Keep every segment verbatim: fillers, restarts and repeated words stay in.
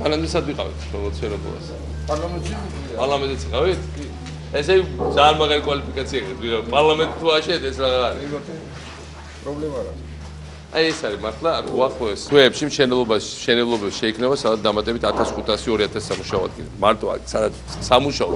მანამდესაც ვიყავით პრომოცირებულას. პარლამენტში? პარლამენტიც ვიყავით? ესე ძალიან მაგარი კვალიფიკაცია აქვს. პარლამენტი თუ აშენეთ ეს რა არის? პრობლემა რა. აი ეს არის მართლა აქ უახლოეს თვეებში მშენებლობაში მშენებლობებში შეიქმნება სადაც დამატებით ათას ხუთასი ორი ათასი სამუშაო ადგილი. მარტო აქ სადაც სამუშაო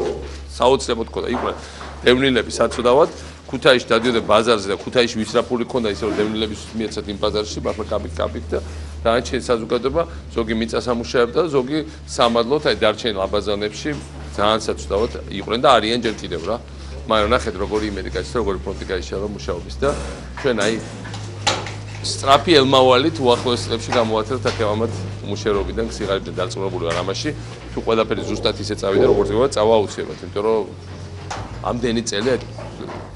საოცრებოდ ქონდა იყვნენ დევნილები საცუდავად ქუთაისში დადიოდა ბაზარზე და ქუთაისში ვისრაფული ქონდა ისე რომ დევნილების მიეცათ იმ ბაზარში მართლა კაპიკ კაპიკ და დანარჩენი საზოგადოება ზოგი მიწა სამუშაოებდა და ზოგი სამადლოდ აი დარჩენილ აბაზანებში ძალიან საცუდავად იყვნენ და არიან ჯერ კიდევ რა. მაგრამ ნახეთ როგორი იმედი გაიცნო როგორი ფრონტი გაიშალა მუშაობის და ჩვენ აი სწრაფი ელმავალით უახლოეს წლებში გამოაცხადეთ აქევამად მუშაობიდან სიღარიბეთან დარწმუნებული ვარ ამაში თუ ყველაფერი ზუსტად ისე წავიდა როგორც იყო წავა აუცილებლად იმიტომ რომ ამდენი წელი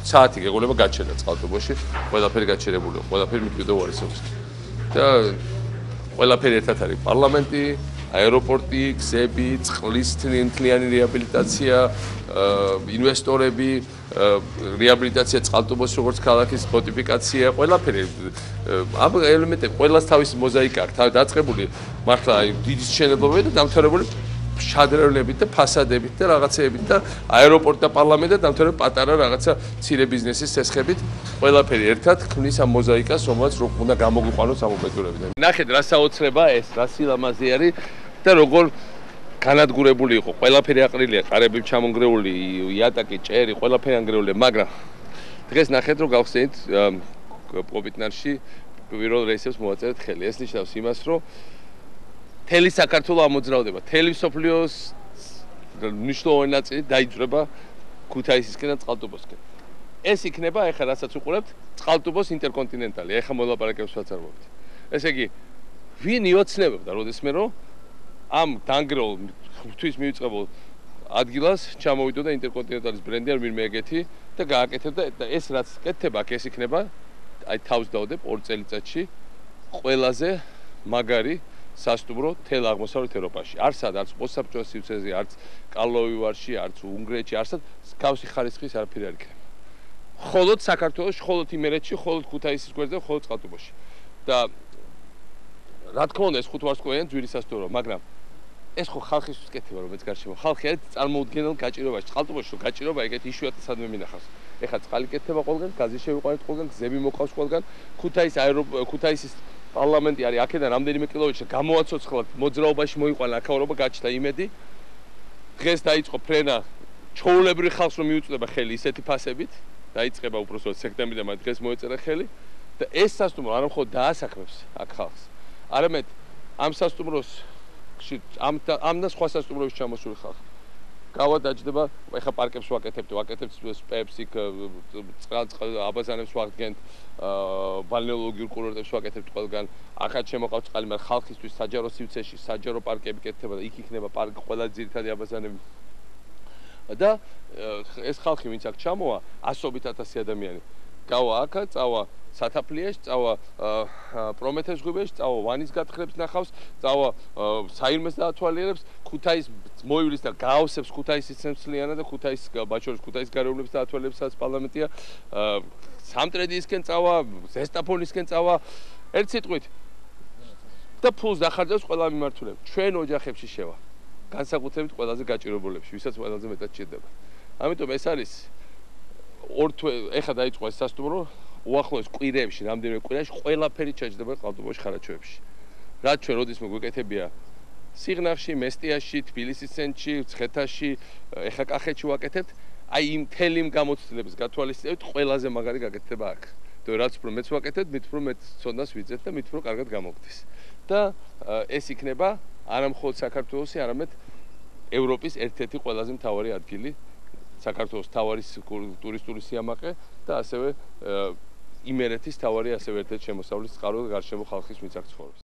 საათი გეყოლება გაჩერდა წყალტუბოში ყველაფერი გაჩერებულია ყველაფერი მიდიოდა უარესობის და ყველაფერი ერთად არის პარლამენტი აეროპორტი გზები წყლის თლიანი რეაბილიტაცია ინვესტორები რეაბილიტაცია წყალტუბოს როგორც ქალაქის ფორტიფიკაცია ყველაფერი ამ ელემენტები ყველას თავისი მოზაიკა აქვს თავი დაწყებული მართლა აი დიდი მშენებლობები და დამთავრებული შადრევნებით და ფასადებით და რაღაცეებით და აეროპორტი და პარლამენტი და დამთავრებული პატარა რაღაცა მცირე ბიზნესის ცესხებით ყველაფერი ერთად ქმნის ამ მოზაიკას რომელიც რო უნდა გამოგვიყვანოს ამ უბედურებიდან ნახეთ რა საოცრება ეს რა სილამაზე არის და როგორ განადგურებული იყო ყველაფერი აყრილია ყარები ჩამონგრეული იატაკი ჭერი ყველაფერი ანგრეულია მაგრამ დღეს ნახეთ რომ გავხსენით პოპიტნარში პირველ რეისებს მოაწერეთ ხელი ეს ნიშნავს იმას რომ თელი საქართველო ამოძრავდება თელი სოფლიოს მნიშვნელოვანი ნაწილი დაიძრება ქუთაისისკენ და წყალტუბოსკენ ეს იქნება ეხლა რასაც უყურებთ წყალტუბოს ინტერკონტინენტალი ეხლა მოლაპარაკებს ვაცარბობთ ესე იგი ვინ იოცნებობდა როდესმე რომ ამ დანგრეულ ღვთის მივიწყებულ ადგილას ჩამოვიდოდა ინტერკონტინენტალის ბრენდი არ ვინმე ეგეთი და გააკეთებდა და ეს რაც კეთდება აქ ეს იქნება აი თავს დავდებ ორ წელიწადში ყველაზე მაგარი სასტუმრო თელ აღმოსავლეთ ევროპაში არც სადაც პოსტსაბჭოთა სივრცეზე არც კარლოვი ვარში არც უნგრეთში არც გავსი ხარისხის არაფერი არ იქნება მხოლოდ საქართველოს მხოლოდ იმერეთში მხოლოდ ქუთაისის გვერდზე მხოლოდ წყალტუბოში და რა თქმა უნდა ეს ხუთვარსკვლავიანი ძვირი სასტუმრო მაგრამ ეს ხო ხალხისთვის კეთება რომ ეს გარშემო ხალხი არის წარმოუდგენელ გაჭირობაში წყალტუბოში რომ გაჭირობა ეგეთი იშვიათი სადმე მინახავს ეხლა წყალი კეთდება ყველგან გაზი შევიყვანეთ ყველგან გზები მოყავს ყველგან ქუთაის ქუთაისის პარლამენტი არის აქედან რამდენიმე კილომეტრში გამოაცოცხლად მოძრაობაში მოიყვანა აქაურობა გაჩნდა იმედი დღეს დაიწყო ფრენა ჩაოლებრივ ხალხს რომ მიუწვდება ხელი ისეთი ფასებით დაიწყება უბრალოდ სექტემბრიდან მაგრამ დღეს მოეწერა ხელი და ეს სასტუმრო არ მხოლოდ დაასაქმებს აქ ხალხს არამედ ამ სასტუმროს ამ ამ და სხვა სასტუმროებში ჩამოსული ხალხი გავადაჯდება ეხა პარკებს ვაკეთებთ ვაკეთებთ სპეპს იქ წყალ აბაზანებს ვაღდგენთ ბალნეოლოგიურ კურორტებს ვაკეთებთ ყველგან ახაც შემოყავთ წყალი მაგრამ ხალხისთვის საჯარო სივრცეში საჯარო პარკები კეთდება და იქ იქნება პარკი ყველა ძირითადი აბაზანები და ეს ხალხი ვინც აქ ჩამოვა ასობით ათასი ადამიანი გავა აქა წავა სათაფლიაში წავა პრომეთეს ზღვებში წავა ვანის გათხრებს ნახავს წავა საირმეს დაათვალიერებს ქუთაის მოივლის და გაავსებს ქუთაისის ცენტრალიანად და ქუთაის ბაჩორის ქუთაის გარეუბნებს დაათვალიერებს სადაც პარლამენტია სამტრედიისკენ წავა ზესტაფონისკენ წავა ერთ სიტყვით და ფულს დახარჯავს ყველა მიმართულებით ჩვენ ოჯახებში შევა განსაკუთრებით ყველაზე გაჭირებულებში ვისაც ყველაზე მეტად ჭირდება ამიტომ ეს არის ორ თვე ეხა დაიწყო ეს სასტუმრო უახლოეს კვირეებში რამდენიმე კვირაში ყველაფერი ჩაჯდება ყალტუბოში ხარაჩოებში რაც ჩვენ როდისმე გვეკეთებია სიღნაღში მესტიაში თბილისის ცენტრში ცხეთაში ეხა კახეთში ვაკეთებთ აი იმ თელი იმ გამოცდილების გათვალისწინებით ყველაზე მაგარი გაკეთდება აქ და რაც უფრო მეც ვაკეთებთ მით უფრო მეც ცოდნას ვიძეთ და მით უფრო კარგად გამოგდის და ეს იქნება არა მხოლოდ საქართველოსი არამედ ევროპის ერთ-ერთი ყველაზე მთავარი ადგილი საქართველოს თავარი ტურისტული სიამაყე და ასევე იმერეთის თავარი ასევე ერთ-ერთი შემოსავლის წყარო გარშემო ხალხის მიწაქ ცხოვრობს